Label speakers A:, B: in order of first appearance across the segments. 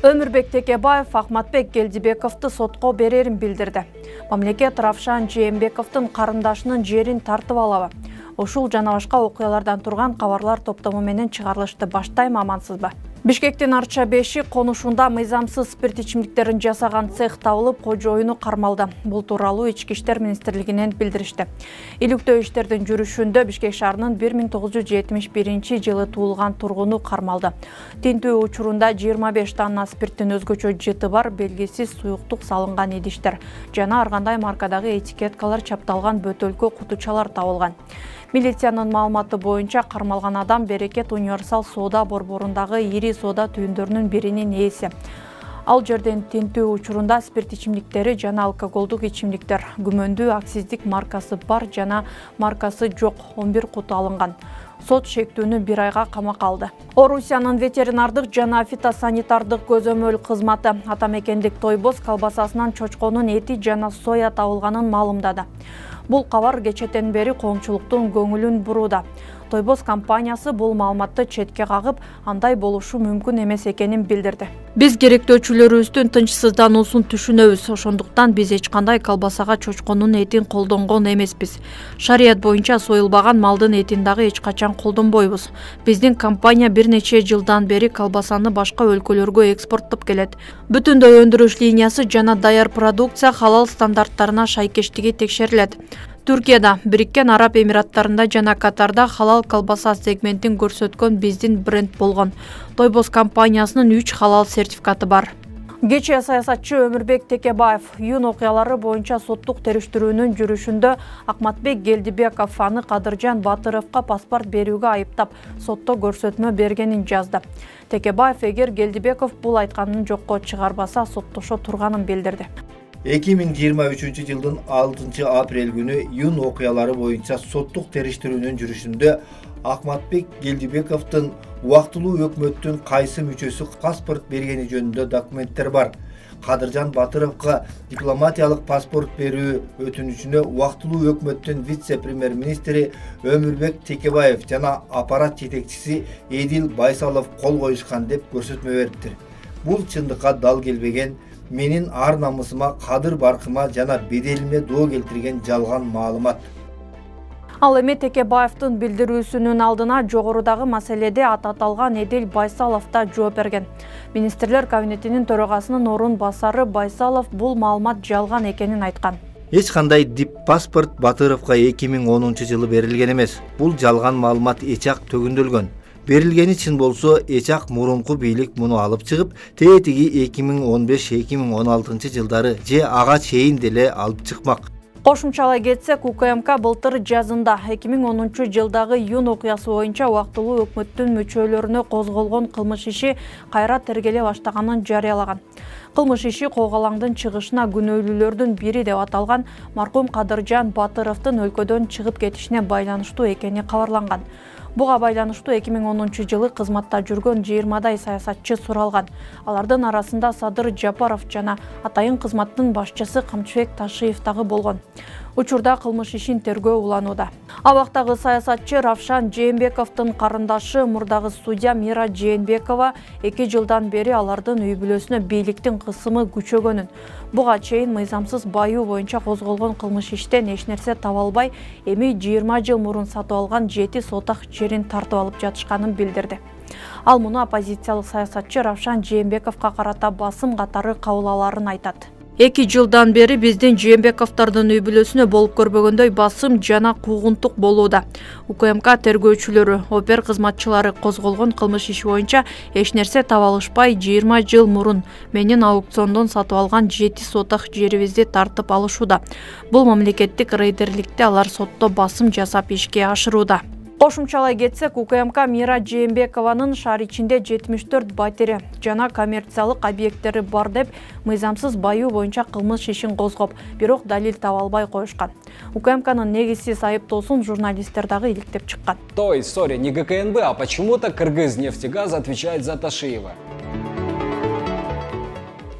A: Өмүрбек Текебаев Ахматбек Келдибековду сотко берерин билдирди. Мамлекет Равшан Жээнбековдун карындашынын жерин тартып алабы? Ушул жана башка окуялардан турган кабарлар топтому менен чыгарылышты. Баштайм, амансызбы? Бишкектин Арча 5 конушунда мыйзамсыз спирт ичимдиктерин жасаган цех табылып, кожоюну кармалды. Бул тууралуу Ички иштер министрлигинен билдиришти. Иликтөө иштердин жүрүшүндө Бишкек шаарынын 1971-жылы туулган тургуну кармалды. Тинтүү учурунда 25 тонна спирттин өзгөчө жыты бар белгисиз суюктук салынган идиштер жана ар кандай маркадагы этикеткалар чапталган бөтөлкө кутучалар табылган. Милициянын маалыматы боюнча кармалган адам Берекет универсал соода борборундагы ири соода түйүндөрүнүн биринин ээси. Ал жерден тинтүү учурунда спирт ичимдиктери жана алкоголдук ичимдиктер күмөндүү акциздик маркасы бар жана маркасы жок 11 кут алынган. Сот шектүүнү 1 айга камакка алды. Орусиянын ветеринардык жана фитосанитардык көзөмөл кызматы атамекендик Тойбоз колбасасынан чочконун эти жана соя табылганын маалымдады. Бул кабар кечетен бери коомчулуктун көңүлүн бурууда. Тойбоз компаниясы бул маалыматты четке кагып, андай болушу мүмкүн эмес экенин билдирди. Биз керектөөчүлөрүбүздүн тынчсыздануусун түшүнөбүз. Ошондуктан биз эч кандай колбасага чочконун этин колдонгон эмеспиз. Шарият боюнча союлбаган малдын этин дагы эч качан колдонбойбуз. Биздин компания бир нече жылдан бери колбасаны башка өлкөлөргө экспорттоп келет. Бүтүндөй өндүрүш линиясы жана даяр продукция халал стандарттарына шайкештиги текшерилет. Түркияда, Бириккен Араб Эмираттарында жана Катарда халал колбаса сегментин көрсөткөн биздин бренд болгон. Тойбоз компаниясынын 3 халал сертификаты бар. Кечээ саясатчы Өмүрбек Текебаев июнь окуялары боюнча соттук териштирүүнүн жүрүшүндө Ахматбек Келдибеков аны Кадыржан Батыровго паспорт берүүгө айыптап, сотто көрсөтмө бергенин жазды. Текебаев эгер Келдибеков бул айтканын жокко чыгарбаса, соттошо турганын билдирди.
B: 2023-жылдын 6 апрель күнү июнь окуялары боюнча соттук териштирүүнүн жүрүшүндө Ахматбек Келдибековдун убактылуу өкмөттүн кайсы мүчөсү паспорт бергени жөнүндө документтер бар. Кадыржан Батыровго дипломатиялык паспорт берүү өтүнүчүнө убактылуу өкмөттүн вице-премьер-министри Өмүрбек Текебаев жана аппарат жетекчиси Эдил Байсалов кол коюшкан деп көрсөтмө бериптир. Бул чындыкка дал келбеген, менин ар намысыма, кадыр баркыма жана беделиме доо келтирген жалган маалымат.
A: Ал эми Текебаевдин билдирүүсүнүн алдына жогорудагы маселеде аталган Эдил Байсалов да жооп берген. Министрлер кабинетинин төрагасынын орун басары Байсалов бул маалымат жалган экенин айткан.
B: Эч кандай дип паспорт Батыровго 2010-жылы берилген эмес. Бул жалган маалымат эчак төгүндөлгөн. Берилгени чын болсо, эчак мурунку бийлик муну алып чыгып, тетиги 2015-2016 жылдары же ага чейин деле алып чыкмак.
A: Кошумчалай кетсек, УКМК былтыр жазында 2010 жылдагы июнь окуясы боюнча убактылуу өкмөттүн мүчөлөрүнө козголгон кылмыш иши кайра тергеле баштаганын жарыялаган. Кылмыш иши Когалаңдын чыгышына күнөөлүүлөрдүн бири деп аталган маркум Кадыржан Батыровдун өлкөдөн чыгып кетишине байланыштуу экени кабарланган. Буга байланыштуу 2010 жылы кызматта жүргөн 20дай саясатчы суралган. Алардын арасында Садыр Жапаров жана атайын кызматтын башчысы Камчыбек Ташиев дагы болгон. Учурда кылмыш ишин тергөө уланууда. Абактагы саясатчы Равшан Жээнбековдун карындашы мурдагы судья Мира Жээнбекова 2 жылдан бери алардын үй бүлөсүнө бийликтин кысымы күчөгөнүн, буга чейин мыйзамсыз баюу боюнча козголгон кылмыш иштен эч нерсе таба албай, эми 20 жыл мурун сатып алган 7 сотак жерин тартып алып жатышканын билдирди. Ал муну оппозициялык саясатчы Равшан Жээнбековго карата басым катары кабыл аларын айтат. 2 жылдан бери биздин Жээнбековдордун үй бүлөсүнө болуп көрбөгөндөй басым жана куугунтук болууда. УКМК тергөөчүлөрү, опер кызматчылары козголгон кылмыш иши боюнча эч нерсе таба алышпай 20 жыл мурун менин аукциондон сатып алган 7 сотак жерибизди тартып алышууда. Бул мамлекеттик рейдерликти алар сотто басым жасап ишке ашырууда. Кошумчалай кетсек, УКМК Мира Жээнбекованын шаар ичинде 74 батири жана коммерциялык объекттери бар деп мыйзамсыз баюу боюнча кылмыш ишин козгоп, бирок далил таба албай коюшкан. УКМКнын негизсиз айыптоосун журналисттер дагы иликтеп чыккан.
C: То история не ГКНБ, а почему-то Кыргыз нефтегаз отвечает за Ташиева.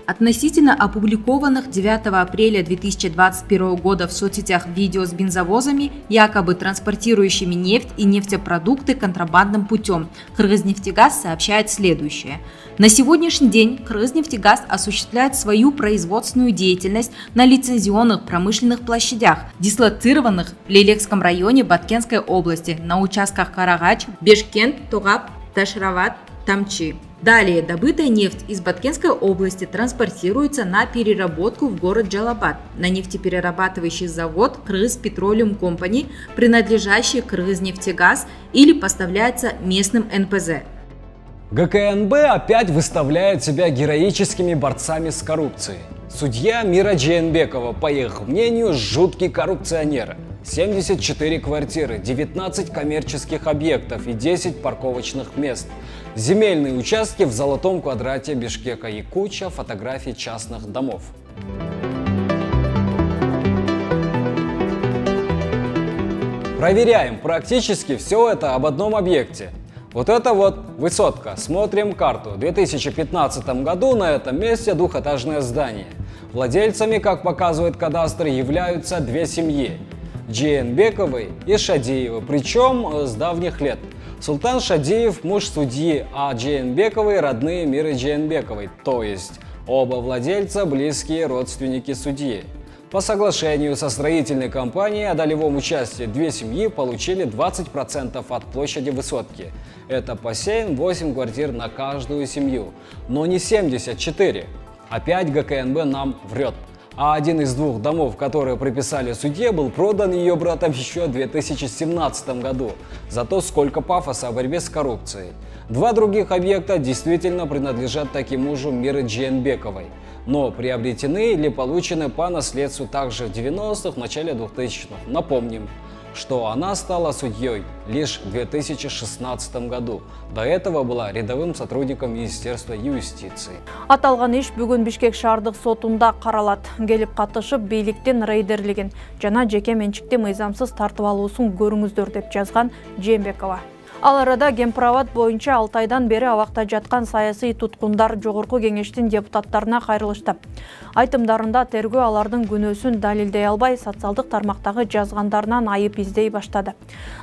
D: Относительно опубликованных 9 апреля 2021 года в соцсетях видео с бензовозами, якобы транспортирующими нефть и нефтепродукты контрабандным путем, Кыргызнефтегаз сообщает следующее. На сегодняшний день Кыргызнефтегаз осуществляет свою производственную деятельность на лицензионных промышленных площадях, дислоцированных в Лелекском районе Баткенской области на участках Карагач, Бешкент, Тогап, Ташрават, Тамчи. Далее добытая нефть из Баткенской области транспортируется на переработку в город Джалабад на нефтеперерабатывающий завод Кыргыз Петролиум Компани, принадлежащий Кыргызнефтегаз, или поставляется местным НПЗ.
C: ГКНБ опять выставляет себя героическими борцами с коррупцией. Судья Мира Джейенбекова, по их мнению, жуткий коррупционер. 74 квартиры, 19 коммерческих объектов и 10 парковочных мест. Земельные участки в золотом квадрате Бишкека и куча фотографий частных домов. Проверяем практически все это об одном объекте. Вот это вот высотка. Смотрим карту. В 2015 году на этом месте двухэтажное здание. Владельцами, как показывает кадастр, являются две семьи. Джейенбековой и Шадиевой, причем с давних лет. Султан Шадиев – муж судьи, а Джейенбековой – родные Миры Джейенбековой, то есть оба владельца – близкие родственники судьи. По соглашению со строительной компанией о долевом участии две семьи получили 20% от площади высотки. Это по 7-8 квартир на каждую семью, но не 74. Опять ГКНБ нам врет. А один из двух домов, которые приписали судье, был продан ее братом еще в 2017 году. Зато сколько пафоса о борьбе с коррупцией. Два других объекта действительно принадлежат таки мужу Миры Джейенбековой, но приобретены или получены по наследству также в 90-х, в начале 2000-х. Напомним, что она стала судьей лишь в 2016 году. До этого была рядовым сотрудником Министерства юстиции.
A: Аталган иш бүгүн Бишкек шаардык сотунда каралат. Келип катышып бийликтин рейдерлигин жана жеке менчикти мыйзамсыз тартып алуусун көрүңүздөр деп жазган Джейенбекова. Ал арада Гемправат боюнча 6 айдан бери абакта жаткан саясий туткундар Жогорку кеңештин депутаттарына кайрылышты. Айтымдарында тергөө алардын күнөөсүн далилдей албай, социалдык тармактагы жазгандарынан айып издей баштады.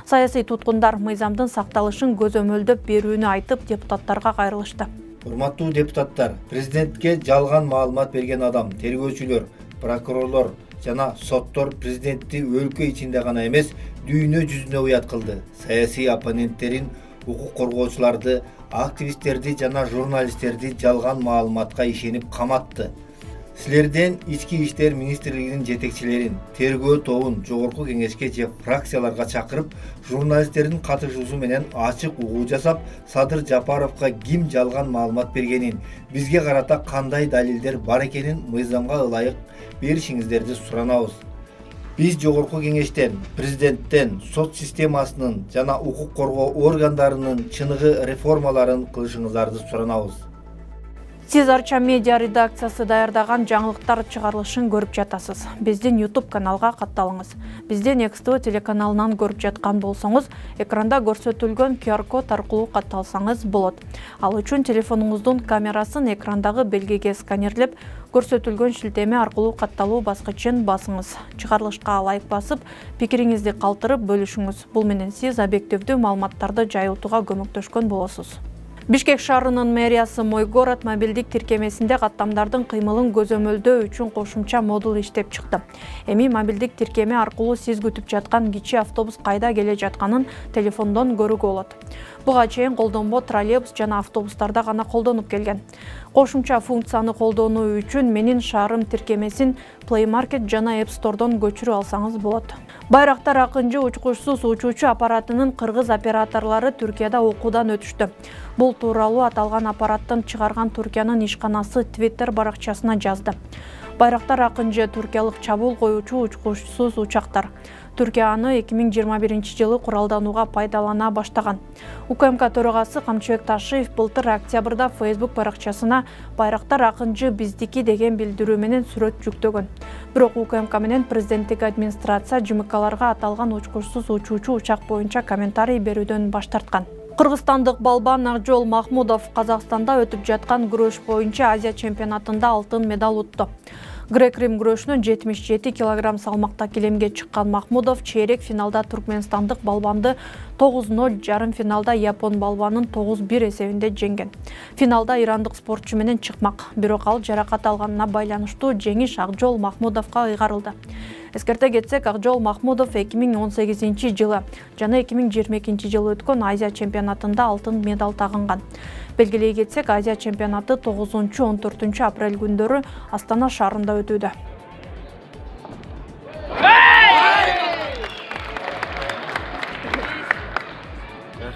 A: Саясий туткундар мыйзамдын сакталышын көзөмөлдөп берүүнү айтып, депутаттарга кайрылышты.
B: Урматтуу депутаттар, президентке жалган маалымат берген адам, тергөөчүлөр, прокурорлор жана соттор президентти өлкө ичинде гана эмес, дүйнө жүзүнө уят кылды. Саясий оппоненттерин, укук коргоочуларды, активисттерди жана журналисттерди жалган маалыматка ишенип каматты. Силерден ички иштер министрлигинин жетекчилерин, тергөө тобун жогорку кеңешке же фракцияларга чакырып, журналисттердин катышуусу менен ачык угуу жасап, Садыр Жапаровго ким жалган маалымат бергенин, бизге карата кандай далилдер бар экенин мыйзамга ылайык беришиңиздерди суранабыз. Биз жогорку кеңештен, президенттен, сот системасынын жана укук коргоо органдарынын чыныгы реформаларын кылышыңыздарды суранабыз.
A: Сиз Арча медиа редакциясы даярдаган жаңылыктар чыгарылышын көрүп жатасыз. Биздин YouTube каналга катталыңыз. Биздин XTV телеканалынан көрүп жаткан болсоңуз, экранда көрсөтүлгөн QR-код аркылуу катталсаңыз болот. Ал үчүн телефонуңуздун камерасын экрандагы белгиге сканерлеп, көрсөтүлгөн шилтеме аркылуу катталуу баскычын басыңыз. Чыгарылышка ылайык басып, пикириңизди калтырып бөлүшүңүз. Бул менен сиз объективдүү маалыматтарды жайылтууга көмөктөшкөн болосуз. Бишкек шаарынын мэриясы Мой город мобилдик тиркемесинде каттамдардын кыймылын көзөмөлдөө үчүн кошумча модул иштеп чыкты. Эми мобилдик тиркеме аркылуу сиз күтүп жаткан кичи автобус кайда келе жатканын телефондон көрүүгө болот. Буга чейин колдонбо троллейбус жана автобустарда гана колдонуп келген. Кошумча функцияны колдонуу үчүн Менин шаарым тиркемесин Play Market жана App Store'дон көчүрүп алсаңыз болот. Байрактар акынчы учкучсуз учуучу аппаратынын кыргыз операторлору Түркияда окуудан өтүштү. Бул тууралуу аталган аппараттын чыгарган Түркиянын ишканасы Twitter баракчасына жазды. Байрактар акынчы түркиялык чабуул коюучу учкучсуз учактар. Түркия аны 2021 жылы куралданууга пайдалана баштаган. УКМК төрагасы Камчыбек Ташиев былтыр октябрда Facebook баракчасына Байрактар акынчы биздики деген билдирүү менен сүрөт жүктөгөн. Бирок УКМК менен президенттик администрация ЖМКларга аталган учкучсуз учуучу учак боюнча комментарий берүүдөн баш тарткан. Кыргызстандык балбан Акжол Махмудов Казакстанда өтүп жаткан күрөш боюнча Азия чемпионатында алтын медаль утту. Грек-рим күрөшүнөн 77 кг салмакта килемге чыккан Махмудов чейрек финалда туркменстандык балбанды 9-0, жарым финалда япон балбанын 9-1 эсебинде жеңген. Финалда ирандык спортчу менен чыкмак, бирок ал жаракат алганына байланыштуу жеңиш Акжол Махмудовго ыйгарылды. Эскерте кетсек, Акжол Махмудов 2018 жылы жана 2022 жылы өткөн Азия чемпионатында алтын медаль тагынган. Белгилей кетсек, Азия чемпионаты 9-14 апрель күндөрү Астана шаарында өтүүдө.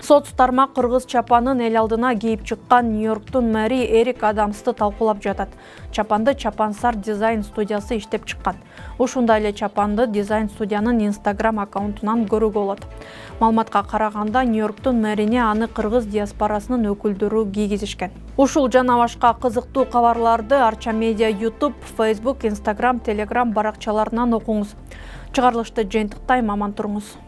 A: Соц тармак кыргыз чапанын эл алдына кийип чыккан Нью-Йорктун мэри Эрик Адамсты талкуулап жатат. Чапанды Чапансар дизайн студиясы иштеп чыккан. Ушундай эле чапанды дизайн студиянын Instagram аккаунтунан көрүүгө болот. Маалыматка караганда, Нью-Йорктун мэрине аны кыргыз диаспорасынын өкүлдөрү кийгизишкен. Ушул жана башка кызыктуу кабарларды Арча Медиа YouTube, Facebook, Instagram, Telegram баракчаларынан окуңуз. Чыгарылышты жыйынтыктайм, аман туруңуз.